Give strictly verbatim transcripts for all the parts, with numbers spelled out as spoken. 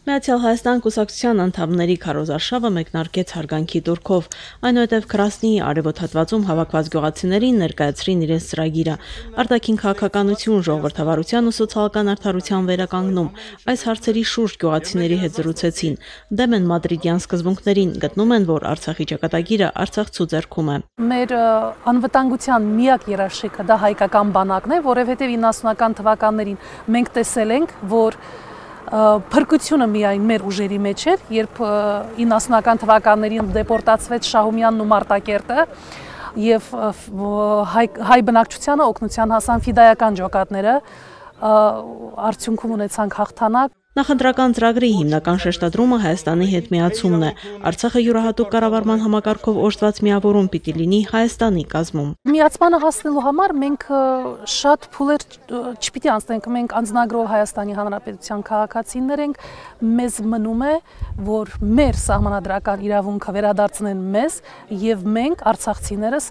Միացյալ Հայաստան կուսակցության անդամների քարոզարշավը մեկնարկեց հարգանքի տուրքով, այնուհետև Քրասնիի արևոտ հատվածում հավաքված գյուղացիներին ներկայացրին իրենց ծրագիրը, արտաքին քաղաքականություն, ժողովրդավարության ու սոցիալական արդարության վերականգնում։ Այս հարցերի շուրջ գյուղացիների հետ զրուցեցին, դեմ են մադրիդյան սկզբունքներին, գտնում են, որ Արցախի ճակատագիրը Արցախցու ձեռքում է։ Մեր անվտանգության միակ երաշխիքը դա հայկական բանակն է, որովհետև իննասունական թվականներին մենք տեսել ենք, որ Փրկությունը միայն մեր ուժերի մեջ էր, երբ իննասունական թվականներին դեպորտացվեց Շահումյանն ու Մարտակերտը եւ հայ բնակչությանը օգնության հասան ֆիդայական ջոկատները, արդյունքում ունեցանք հաղթանակ։ Նախընտրական ծրագրի հիմնական շեշտադրումը Հայաստանի հետ միացումն է։ Արցախը յուրահատուկ կառավարման համակարգով օժտված միավորում պիտի լինի Հայաստանի կազմում։ Միացմանը հասնելու համար մենք շատ փուլեր չպիտի անցնենք, մենք անձնագրով Հայաստանի Հանրապետության քաղաքացիներ ենք, մեզ մնում է, որ մեր սահմանադրական իրավունքը վերադարձնեն մեզ եւ մենք արցախցիներս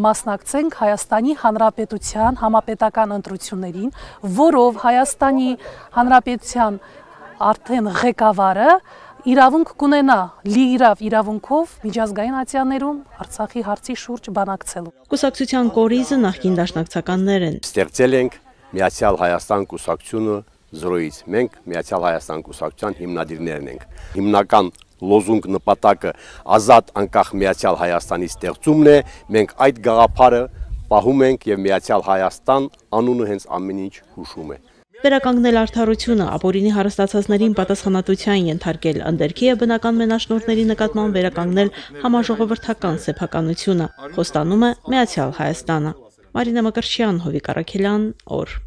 մասնակցենք Հայաստանի Հանրապետության համապետական ընտրություններին, որով Հայաստանի Հանրապետության արդեն ղեկավարը իրավունք կունենա լիիրավ իրավունքով միջազգային ատյաններում Արցախի հարցի շուրջ բանակցելու։ Կուսակցության կորիզը նախկին դաշնակցականներ են։ Ստեղծել ենք Միացյալ Հայաստան կուսակցությունը զրոյից։ Մենք Միացյալ Հայաստան կուսակցության հիմնադիրներն ենք։ Հիմնական լոզունգ նպատակը ազատ անկախ Միացյալ Հայաստանի ստեղծումն է։ Մենք այդ գաղափարը պահում ենք եւ Միացյալ Հայաստան անունը հենց ամեն ինչ հուշում է։ Վերականգնել արդարությունը, ապօրինի հարստացածներին պատասխանատվության ենթարկել, ընդերքի եւ բնական մենաշնորհների նկատմամբ վերականգնել համաժողովրդական սեփականությունը, խոստանում է Միացյալ Հայաստանը։ Մարինա Մկրտչյան, Հովիկ Առաքելյան, օր։